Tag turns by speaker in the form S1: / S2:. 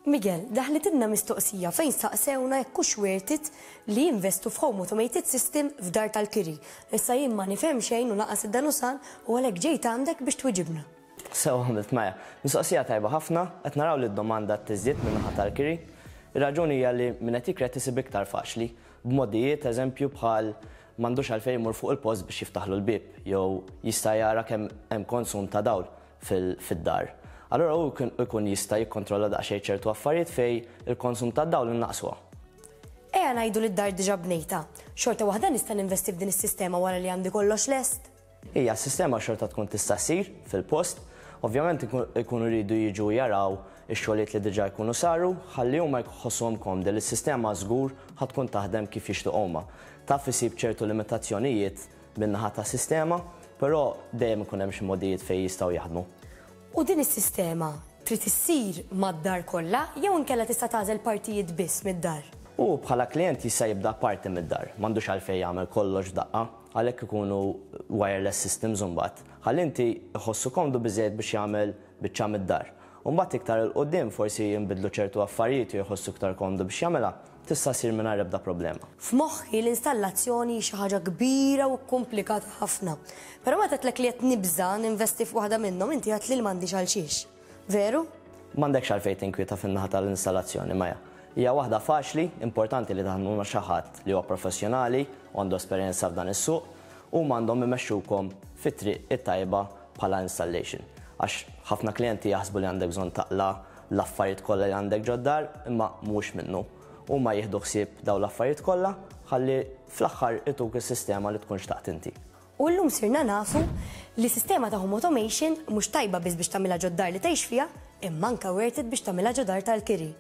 S1: Miguel, daħlitilna mistoqsija fejn saqsewna jekk hux worth it li jinvestu f'home automated system f'dar tal-kiri. Issa jien ma nifhem xejn u lanqas id-Danusan u għalhekk ġejt għandek biex twiġibna.
S2: Sewwa għamilt Maja. Mistoqsija tajba ħafna, qed naraw li d-domanda qed tiżdied min-naħa tal-kiri. Ir-raġuni hija li min qed jikri qed isib iktar faċli, b'modijiet eżempju bħal m'għandux għalfejn imur fuq il-post biex jiftaħlu l-bieb jew jista' jara kemm hemm konsum ta' dawl. fid-dar. Allura hu jkun jista' jikkontrolla daqsxejn ċertu affarijiet fejn il-konsum tad-dawl innaqqsuha.
S1: Ejja ngħidu li d-dar diġà bnejtha. Xorta waħda nista' ninvesti f'din is-sistema wara li għandi kollox lest?
S2: Ija, s-sistema xorta tkun tista' ssir fil-post. Ovvjament ikunu jridu jiġu jaraw ix-xogħlijiet li diġà jkunu saru ħalli huma jħossuhom komdi li s-sistema żgur ħa tkun taħdem kif jixtiequ huma. Taf isib ċertu limitazzjonijiet min-naħa tas-sistema, però dejjem ikun hemm xi mogħdijiet fejn jistgħu jaħdmu.
S1: U din is-sistema trid issir mad-dar kollha jew inkella tista' tagħżel partijiet biss mid-dar?
S2: Hu bħala klijent jista' jibda parti mid-dar, m'għandux għalfejn jagħmel kollox f'daqqa, għalhekk ikunu wireless systems imbagħad, ħalli inti jħossu komdu biżżejjed biex jagħmel biċċa mid-dar. U mbagħad iktar 'il quddiem forsi jinbidlu ċertu affarijiet jew jħossu iktar komdu biex jagħmilha, Tista' ssir mingħajr ebda problema.
S1: F'moħħi l-installazzjoni hi xi ħaġa kbira u kkumplikata ħafna. Però meta għedtlek li qed nibża' ninvesti f'waħda minnhom inti għedtli li m'għandix għalxiex. Veru?
S2: M'għandekx għalfejn tinkwieta fin-naħa tal-installazzjoni, Maya. Hija waħda faċli, importanti li taħdmu ma' xi ħadd li huwa professjonali u għandu esperjenza f'dan is-suq. Huma għandhom imexxukom fit-triq it-tajba bħala installation. Għax ħafna klijenti jaħsbu li għandek bżonn taqla' l-affarijiet kollha li għandek ġod-dar, imma mhuwiex minnu. Huma jieħdu ħsieb dawn l-affarijiet kollha ħalli fl-aħħar ituk is-sistema li tkun xtaqt inti.
S1: U llum sirna nafu li sistema ta' home automation mhux tajba biss biex tagħmilha ġod-dar li tgħix fiha, imma anke worth it biex tagħmilha ġo dar tal-kiri.